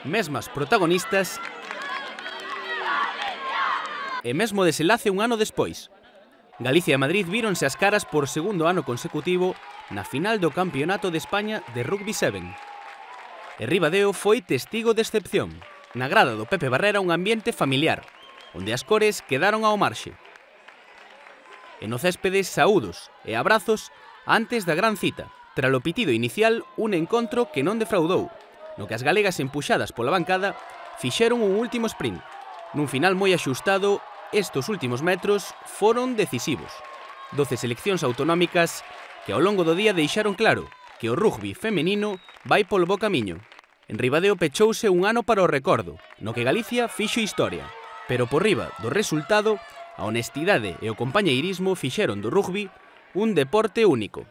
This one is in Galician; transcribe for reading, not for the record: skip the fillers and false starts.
mesmas protagonistas e mesmo desenlace un ano despois. Galicia e Madrid víronse as caras por segundo ano consecutivo na final do Campeonato de España de Rugby 7. E Ribadeo foi testigo de excepción. Na grada do Pepe Barrera un ambiente familiar, onde as cores quedaron ao marxe. E no céspede saúdos e abrazos antes da gran cita. Tralo pitido inicial, un encontro que non defraudou, no que as galegas empuxadas pola bancada fixeron un último sprint. Nun final moi axustado, estes últimos metros foron decisivos. 12 seleccións autonómicas que ao longo do día deixaron claro que o rugby femenino vai polo bo camiño. En Ribadeo pechouse un ano para o recordo, no que Galicia fixo historia, pero por riba do resultado, a honestidade e o compañeirismo fixeron do rugby un deporte único.